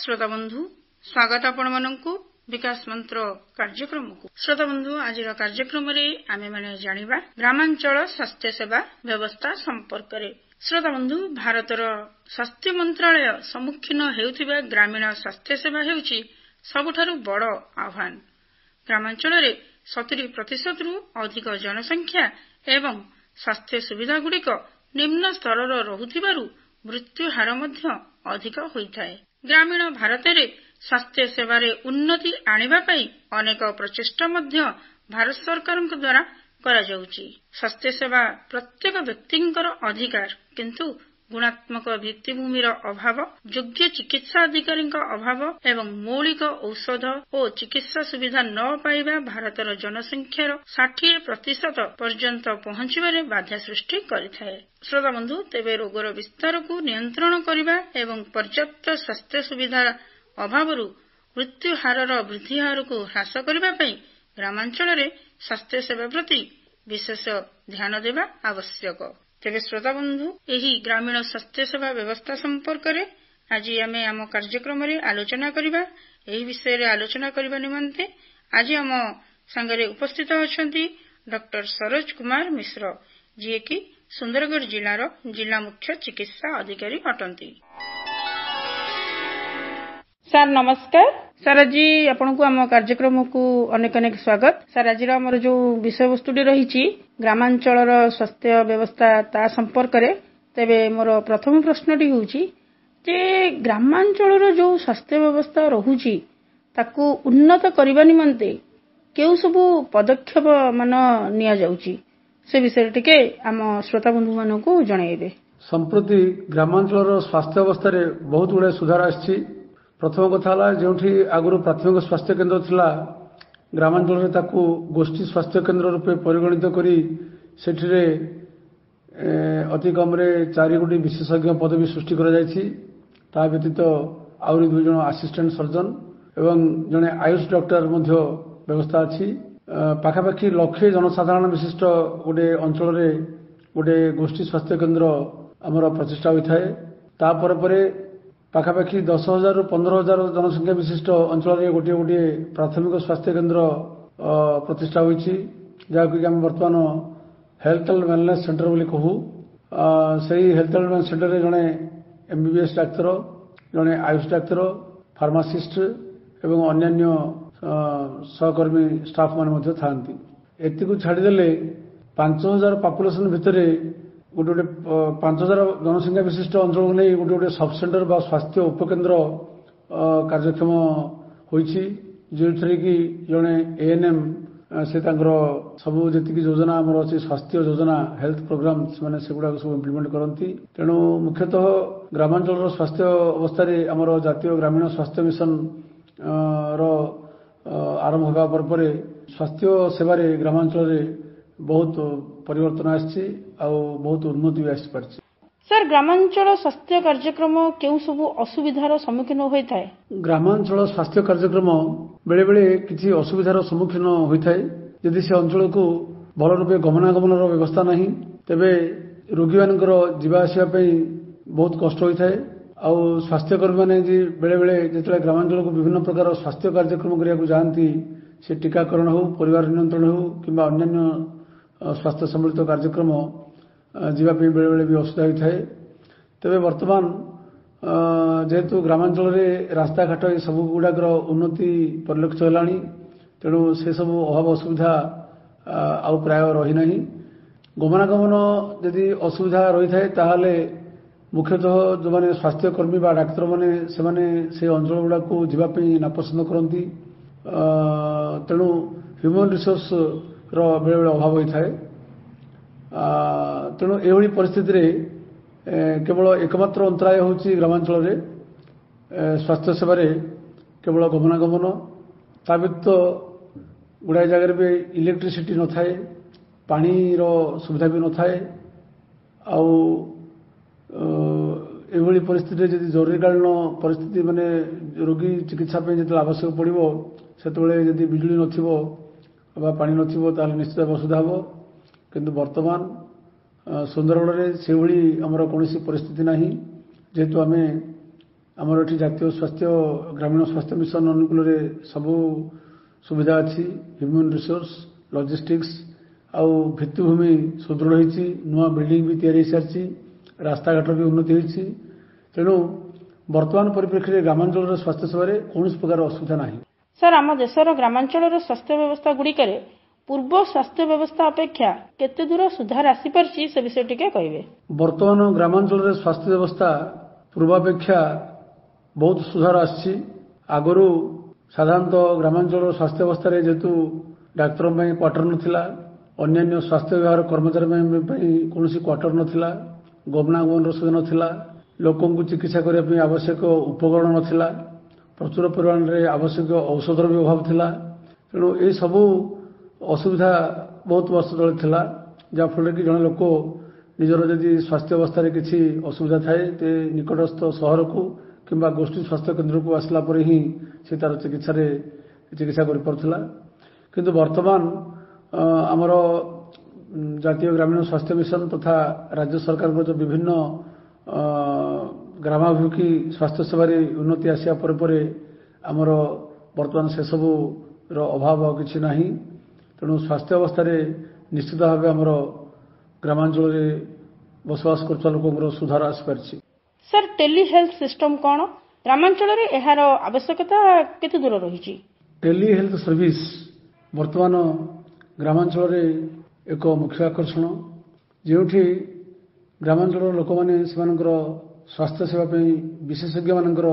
ଶ୍ରୋତା ବନ୍ଧୁ, ସ୍ୱାଗତ ଆପଣମାନଙ୍କୁ ବିକାଶ ମନ୍ତ୍ର କାର୍ଯ୍ୟକ୍ରମକୁ। ଶ୍ରୋତା ବନ୍ଧୁ, ଆଜିର କାର୍ଯ୍ୟକ୍ରମରେ ଆମେମାନେ ଜାଣିବା ଗ୍ରାମାଞ୍ଚଳ ସ୍ୱାସ୍ଥ୍ୟସେବା ବ୍ୟବସ୍ଥା ସମ୍ପର୍କରେ। ଶ୍ରୋତା ବନ୍ଧୁ, ଭାରତର ସ୍ୱାସ୍ଥ୍ୟ ମନ୍ତ୍ରାଳୟ ସମ୍ମୁଖୀନ ହେଉଥିବା ଗ୍ରାମୀଣ ସ୍ୱାସ୍ଥ୍ୟସେବା ହେଉଛି ସବୁଠାରୁ ବଡ଼ ଆହ୍ୱାନ। ଗ୍ରାମାଞ୍ଚଳରେ 70%ରୁ ଅଧିକ ଜନସଂଖ୍ୟା ଏବଂ ସ୍ୱାସ୍ଥ୍ୟ ସୁବିଧାଗୁଡ଼ିକ ନିମ୍ନ ସ୍ତରର ରହୁଥିବାରୁ ମୃତ୍ୟୁ ହାର ମଧ୍ୟ ଅଧିକ ହୋଇଥାଏ। ଗ୍ରାମୀଣ ଭାରତରେ ସ୍ୱାସ୍ଥ୍ୟ ସେବାରେ ଉନ୍ନତି ଆଣିବା ପାଇଁ ଅନେକ ପ୍ରଚେଷ୍ଟା ମଧ୍ୟ ଭାରତ ସରକାରଙ୍କ ଦ୍ୱାରା କରାଯାଉଛି। ସ୍ୱାସ୍ଥ୍ୟସେବା ପ୍ରତ୍ୟେକ ବ୍ୟକ୍ତିଙ୍କର ଅଧିକାର, କିନ୍ତୁ ଗୁଣାତ୍ମକ ଭିତ୍ତିଭୂମିର ଅଭାବ, ଯୋଗ୍ୟ ଚିକିତ୍ସା ଅଧିକାରୀଙ୍କ ଅଭାବ ଏବଂ ମୌଳିକ ଔଷଧ ଓ ଚିକିତ୍ସା ସୁବିଧା ନ ପାଇବା ଭାରତର ଜନସଂଖ୍ୟାର 60% ପର୍ଯ୍ୟନ୍ତ ପହଞ୍ଚିବାରେ ବାଧା ସୃଷ୍ଟି କରିଥାଏ। ଶ୍ରୋତା ବନ୍ଧୁ, ତେବେ ରୋଗର ବିସ୍ତାରକୁ ନିୟନ୍ତ୍ରଣ କରିବା ଏବଂ ପର୍ଯ୍ୟାପ୍ତ ସ୍ୱାସ୍ଥ୍ୟ ସୁବିଧା ଅଭାବରୁ ମୃତ୍ୟୁ ହାରର ବୃଦ୍ଧି ହାରକୁ ହ୍ରାସ କରିବା ପାଇଁ ଗ୍ରାମାଞ୍ଚଳରେ ସ୍ୱାସ୍ଥ୍ୟସେବା ପ୍ରତି ବିଶେଷ ଧ୍ୟାନ ଦେବା ଆବଶ୍ୟକ। ତେବେ ଶ୍ରୋତା ବନ୍ଧୁ, ଏହି ଗ୍ରାମୀଣ ସ୍ୱାସ୍ଥ୍ୟସେବା ବ୍ୟବସ୍ଥା ସମ୍ପର୍କରେ ଆଜି ଆମେ ଆମ କାର୍ଯ୍ୟକ୍ରମରେ ଆଲୋଚନା କରିବା। ଏହି ବିଷୟରେ ଆଲୋଚନା କରିବା ନିମନ୍ତେ ଆଜି ଆମ ସାଙ୍ଗରେ ଉପସ୍ଥିତ ଅଛନ୍ତି ଡକ୍ଟର ସରୋଜ କୁମାର ମିଶ୍ର, ଯିଏକି ସୁନ୍ଦରଗଡ଼ ଜିଲ୍ଲାର ଜିଲ୍ଲା ମୁଖ୍ୟ ଚିକିତ୍ସା ଅଧିକାରୀ ଅଟନ୍ତି। ସାର୍ ନମସ୍କାର। ସାର୍, ଆଜି ଆପଣଙ୍କୁ ଆମ କାର୍ଯ୍ୟକ୍ରମକୁ ଅନେକ ଅନେକ ସ୍ୱାଗତ। ସାର୍, ଆଜିର ଆମର ଯୋଉ ବିଷୟବସ୍ତୁଟି ରହିଛି ଗ୍ରାମାଞ୍ଚଳର ସ୍ୱାସ୍ଥ୍ୟ ବ୍ୟବସ୍ଥା, ତା ସମ୍ପର୍କରେ, ତେବେ ମୋର ପ୍ରଥମ ପ୍ରଶ୍ନଟି ହେଉଛି ଯେ ଗ୍ରାମାଞ୍ଚଳର ଯୋଉ ସ୍ୱାସ୍ଥ୍ୟ ବ୍ୟବସ୍ଥା ରହୁଛି ତାକୁ ଉନ୍ନତ କରିବା ନିମନ୍ତେ କେଉଁ ସବୁ ପଦକ୍ଷେପ ମାନ ନିଆଯାଉଛି, ସେ ବିଷୟରେ ଟିକେ ଆମ ଶ୍ରୋତା ବନ୍ଧୁମାନଙ୍କୁ ଜଣାଇବେ। ସମ୍ପ୍ରତି ଗ୍ରାମାଞ୍ଚଳର ସ୍ୱାସ୍ଥ୍ୟ ଅବସ୍ଥାରେ ବହୁତ ଗୁଡ଼ାଏ ସୁଧାର ଆସିଛି। ପ୍ରଥମ କଥା ହେଲା, ଯେଉଁଠି ଆଗରୁ ପ୍ରାଥମିକ ସ୍ୱାସ୍ଥ୍ୟ କେନ୍ଦ୍ର ଥିଲା, ଗ୍ରାମାଞ୍ଚଳରେ ତାକୁ ଗୋଷ୍ଠୀ ସ୍ୱାସ୍ଥ୍ୟ କେନ୍ଦ୍ର ରୂପେ ପରିଗଣିତ କରି ସେଠିରେ ଅତି କମରେ 4 ଗୋଟି ବିଶେଷଜ୍ଞ ପଦବୀ ସୃଷ୍ଟି କରାଯାଇଛି। ତା ବ୍ୟତୀତ ଆହୁରି 2 ଜଣ ଆସିଷ୍ଟାଣ୍ଟ ସର୍ଜନ ଏବଂ ଜଣେ ଆୟୁଷ ଡକ୍ଟର ମଧ୍ୟ ବ୍ୟବସ୍ଥା ଅଛି। ପାଖାପାଖି ଲକ୍ଷେ ଜନସାଧାରଣ ବିଶିଷ୍ଟ ଗୋଟେ ଅଞ୍ଚଳରେ ଗୋଟେ ଗୋଷ୍ଠୀ ସ୍ୱାସ୍ଥ୍ୟ କେନ୍ଦ୍ର ଆମର ପ୍ରତିଷ୍ଠା ହୋଇଥାଏ। ତାପରେ ପରେ ପାଖାପାଖି 10,000ରୁ 15,000 ଜନସଂଖ୍ୟା ବିଶିଷ୍ଟ ଅଞ୍ଚଳରେ ଗୋଟିଏ ଗୋଟିଏ ପ୍ରାଥମିକ ସ୍ୱାସ୍ଥ୍ୟ କେନ୍ଦ୍ର ପ୍ରତିଷ୍ଠା ହୋଇଛି, ଯାହାକୁ କି ଆମେ ବର୍ତ୍ତମାନ ହେଲ୍ଥ ଆଣ୍ଡ ୱେଲନେସ୍ ସେଣ୍ଟର ବୋଲି କହୁ। ସେଇ ହେଲ୍ଥ ଆଣ୍ଡ ୱେଲନେସ୍ ସେଣ୍ଟରରେ ଜଣେ ଏମବିବିଏସ୍ ଡାକ୍ତର, ଜଣେ ଆୟୁଷ ଡାକ୍ତର, ଫାର୍ମାସିଷ୍ଟ ଏବଂ ଅନ୍ୟାନ୍ୟ ସହକର୍ମୀ ଷ୍ଟାଫ୍ ମାନେ ମଧ୍ୟ ଥାଆନ୍ତି। ଏତିକୁ ଛାଡ଼ିଦେଲେ 5,000 ପାପୁଲେସନ ଭିତରେ ଗୋଟେ ଗୋଟେ 5,000 ଜନସଂଖ୍ୟା ବିଶିଷ୍ଟ ଅଞ୍ଚଳକୁ ନେଇ ଗୋଟେ ଗୋଟେ ସବ୍ ସେଣ୍ଟର ବା ସ୍ୱାସ୍ଥ୍ୟ ଉପକେନ୍ଦ୍ର କାର୍ଯ୍ୟକ୍ଷମ ହୋଇଛି, ଯେଉଁଥିରେ କି ଜଣେ ଏଏନ୍ଏମ୍ ସେ ତାଙ୍କର ସବୁ ଯେତିକି ଯୋଜନା ଆମର ଅଛି, ସ୍ୱାସ୍ଥ୍ୟ ଯୋଜନା, ହେଲ୍ଥ ପ୍ରୋଗ୍ରାମ, ସେମାନେ ସେଗୁଡ଼ାକ ସବୁ ଇମ୍ପ୍ଲିମେଣ୍ଟ କରନ୍ତି। ତେଣୁ ମୁଖ୍ୟତଃ ଗ୍ରାମାଞ୍ଚଳର ସ୍ୱାସ୍ଥ୍ୟ ଅବସ୍ଥାରେ ଆମର ଜାତୀୟ ଗ୍ରାମୀଣ ସ୍ୱାସ୍ଥ୍ୟ ମିଶନ ର ଆରମ୍ଭ ହେବା ପରେ ପରେ ସ୍ୱାସ୍ଥ୍ୟ ସେବାରେ ଗ୍ରାମାଞ୍ଚଳରେ ବହୁତ ପରିବର୍ତ୍ତନ ଆସିଛି ଆଉ ବହୁତ ଉନ୍ନତି ବି ଆସିପାରିଛି। ସାର୍, ଗ୍ରାମାଞ୍ଚଳ ସ୍ୱାସ୍ଥ୍ୟ କାର୍ଯ୍ୟକ୍ରମ କେଉଁ ସବୁ ଅସୁବିଧାର ସମ୍ମୁଖୀନ ହୋଇଥାଏ? ଗ୍ରାମାଞ୍ଚଳ ସ୍ୱାସ୍ଥ୍ୟ କାର୍ଯ୍ୟକ୍ରମ ବେଳେବେଳେ କିଛି ଅସୁବିଧାର ସମ୍ମୁଖୀନ ହୋଇଥାଏ। ଯଦି ସେ ଅଞ୍ଚଳକୁ ଭଲ ରୂପେ ଗମନାଗମନର ବ୍ୟବସ୍ଥା ନାହିଁ, ତେବେ ରୋଗୀମାନଙ୍କର ଯିବା ଆସିବା ପାଇଁ ବହୁତ କଷ୍ଟ ହୋଇଥାଏ। ଆଉ ସ୍ୱାସ୍ଥ୍ୟକର୍ମୀମାନେ ବେଳେବେଳେ ଯେତେବେଳେ ଗ୍ରାମାଞ୍ଚଳକୁ ବିଭିନ୍ନ ପ୍ରକାର ସ୍ୱାସ୍ଥ୍ୟ କାର୍ଯ୍ୟକ୍ରମ କରିବାକୁ ଯାଆନ୍ତି, ସେ ଟୀକାକରଣ ହେଉ, ପରିବାର ନିୟନ୍ତ୍ରଣ ହେଉ କିମ୍ବା ଅନ୍ୟାନ୍ୟ ସ୍ୱାସ୍ଥ୍ୟ ସମ୍ବଳିତ କାର୍ଯ୍ୟକ୍ରମ ଯିବା ପାଇଁ ବେଳେବେଳେ ବି ଅସୁବିଧା ହୋଇଥାଏ। ତେବେ ବର୍ତ୍ତମାନ ଯେହେତୁ ଗ୍ରାମାଞ୍ଚଳରେ ରାସ୍ତାଘାଟ ଏସବୁ ଗୁଡ଼ାକର ଉନ୍ନତି ପରିଲକ୍ଷିତ ହେଲାଣି, ତେଣୁ ସେସବୁ ଅଭାବ ଅସୁବିଧା ଆଉ ପ୍ରାୟ ରହିନାହିଁ। ଗମନାଗମନ ଯଦି ଅସୁବିଧା ରହିଥାଏ, ତାହେଲେ ମୁଖ୍ୟତଃ ଯେଉଁମାନେ ସ୍ୱାସ୍ଥ୍ୟକର୍ମୀ ବା ଡାକ୍ତରମାନେ, ସେମାନେ ସେ ଅଞ୍ଚଳ ଗୁଡ଼ାକୁ ଯିବା ପାଇଁ ନାପସନ୍ଦ କରନ୍ତି। ତେଣୁ ହ୍ୟୁମାନ ରିସୋର୍ସର ବେଳେବେଳେ ଅଭାବ ହୋଇଥାଏ। ତେଣୁ ଏଭଳି ପରିସ୍ଥିତିରେ କେବଳ ଏକମାତ୍ର ଅନ୍ତରାୟ ହେଉଛି ଗ୍ରାମାଞ୍ଚଳରେ ସ୍ୱାସ୍ଥ୍ୟ ସେବାରେ କେବଳ ଗମନାଗମନ। ତା ବ୍ୟତୀତ ଗୁଡ଼ାଏ ଜାଗାରେ ବି ଇଲେକ୍ଟ୍ରିସିଟି ନଥାଏ, ପାଣିର ସୁବିଧା ବି ନଥାଏ। ଆଉ ଏଭଳି ପରିସ୍ଥିତିରେ ଯଦି ଜରୁରୀକାଳୀନ ପରିସ୍ଥିତି, ମାନେ ରୋଗୀ ଚିକିତ୍ସା ପାଇଁ ଯେତେବେଳେ ଆବଶ୍ୟକ ପଡ଼ିବ, ସେତେବେଳେ ଯଦି ବିଜୁଳି ନଥିବ ବା ପାଣି ନଥିବ, ତାହେଲେ ନିଶ୍ଚିତ ଅସୁବିଧା ହେବ। କିନ୍ତୁ ବର୍ତ୍ତମାନ ସୁନ୍ଦରଗଡ଼ରେ ସେଭଳି ଆମର କୌଣସି ପରିସ୍ଥିତି ନାହିଁ, ଯେହେତୁ ଆମେ ଆମର ଏଠି ଜାତୀୟ ସ୍ୱାସ୍ଥ୍ୟ ଗ୍ରାମୀଣ ସ୍ୱାସ୍ଥ୍ୟ ମିଶନ ଅନୁକୂଳରେ ସବୁ ସୁବିଧା ଅଛି। ହ୍ୟୁମାନ୍ ରିସୋର୍ସ, ଲଜିଷ୍ଟିକ୍ସ ଆଉ ଭିତ୍ତିଭୂମି ସୁଦୃଢ଼ ହେଇଛି। ନୂଆ ବିଲ୍ଡିଂ ବି ତିଆରି ହେଇସାରିଛି, ରାସ୍ତାଘାଟର ବି ଉନ୍ନତି ହେଇଛି। ତେଣୁ ବର୍ତ୍ତମାନ ପରିପ୍ରେକ୍ଷୀରେ ଗ୍ରାମାଞ୍ଚଳର ସ୍ୱାସ୍ଥ୍ୟ ସେବାରେ କୌଣସି ପ୍ରକାର ଅସୁବିଧା ନାହିଁ। ସାର୍, ଆମ ଦେଶର ଗ୍ରାମାଞ୍ଚଳର ସ୍ୱାସ୍ଥ୍ୟ ବ୍ୟବସ୍ଥା ଗୁଡ଼ିକରେ ପୂର୍ବ ସ୍ୱାସ୍ଥ୍ୟ ବ୍ୟବସ୍ଥା ଅପେକ୍ଷା କେତେ ଦୂର ସୁଧାର ଆସିପାରିଛି, ସେ ବିଷୟରେ ଟିକେ କହିବେ। ବର୍ତ୍ତମାନ ଗ୍ରାମାଞ୍ଚଳରେ ସ୍ୱାସ୍ଥ୍ୟ ବ୍ୟବସ୍ଥା ପୂର୍ବାପେକ୍ଷା ବହୁତ ସୁଧାର ଆସିଛି। ଆଗରୁ ସାଧାରଣତଃ ଗ୍ରାମାଞ୍ଚଳର ସ୍ୱାସ୍ଥ୍ୟ ବ୍ୟବସ୍ଥାରେ ଯେହେତୁ ଡାକ୍ତରଙ୍କ ପାଇଁ କ୍ୱାର୍ଟର ନଥିଲା, ଅନ୍ୟାନ୍ୟ ସ୍ୱାସ୍ଥ୍ୟ ବିଭାଗର କର୍ମଚାରୀଙ୍କ ପାଇଁ କୌଣସି କ୍ୱାର୍ଟର ନଥିଲା, ଗମନାଗମନର ସୁବିଧା ନଥିଲା, ଲୋକଙ୍କୁ ଚିକିତ୍ସା କରିବା ପାଇଁ ଆବଶ୍ୟକ ଉପକରଣ ନଥିଲା, ପ୍ରଚୁର ପରିମାଣରେ ଆବଶ୍ୟକ ଔଷଧର ବି ଅଭାବ ଥିଲା। ତେଣୁ ଏସବୁ ଅସୁବିଧା ବହୁତ ବର୍ଷ ତଳେ ଥିଲା, ଯାହାଫଳରେ କି ଜଣେ ଲୋକ ନିଜର ଯଦି ସ୍ୱାସ୍ଥ୍ୟ ଅବସ୍ଥାରେ କିଛି ଅସୁବିଧା ଥାଏ, ତେ ନିକଟସ୍ଥ ସହରକୁ କିମ୍ବା ଗୋଷ୍ଠୀ ସ୍ୱାସ୍ଥ୍ୟ କେନ୍ଦ୍ରକୁ ଆସିଲା ପରେ ହିଁ ସେ ତାର ଚିକିତ୍ସାରେ ଚିକିତ୍ସା କରିପାରୁଥିଲା। କିନ୍ତୁ ବର୍ତ୍ତମାନ ଆମର ଜାତୀୟ ଗ୍ରାମୀଣ ସ୍ୱାସ୍ଥ୍ୟ ମିଶନ ତଥା ରାଜ୍ୟ ସରକାରଙ୍କ ଯେଉଁ ବିଭିନ୍ନ ଗ୍ରାମାଭିମୁଖୀ ସ୍ୱାସ୍ଥ୍ୟ ସେବାରେ ଉନ୍ନତି ଆସିବା ପରେ ପରେ ଆମର ବର୍ତ୍ତମାନ ସେସବୁର ଅଭାବ ଆଉ କିଛି ନାହିଁ। ତେଣୁ ସ୍ୱାସ୍ଥ୍ୟ ଅବସ୍ଥାରେ ନିଶ୍ଚିତ ଭାବେ ଆମର ଗ୍ରାମାଞ୍ଚଳରେ ବସବାସ କରୁଥିବା ଲୋକଙ୍କର ସୁଧାର ଆସିପାରିଛି। ସାର୍, ଟେଲି ହେଲ୍ଥ ସିଷ୍ଟମ କ'ଣ? ଗ୍ରାମାଞ୍ଚଳରେ ଏହାର ଆବଶ୍ୟକତା କେତେ ଦୂର ରହିଛି? ଟେଲି ହେଲ୍ଥ ସର୍ଭିସ ବର୍ତ୍ତମାନ ଗ୍ରାମାଞ୍ଚଳରେ ଏକ ମୁଖ୍ୟ ଆକର୍ଷଣ, ଯେଉଁଠି ଗ୍ରାମାଞ୍ଚଳର ଲୋକମାନେ ସେମାନଙ୍କର ସ୍ୱାସ୍ଥ୍ୟ ସେବା ପାଇଁ ବିଶେଷଜ୍ଞମାନଙ୍କର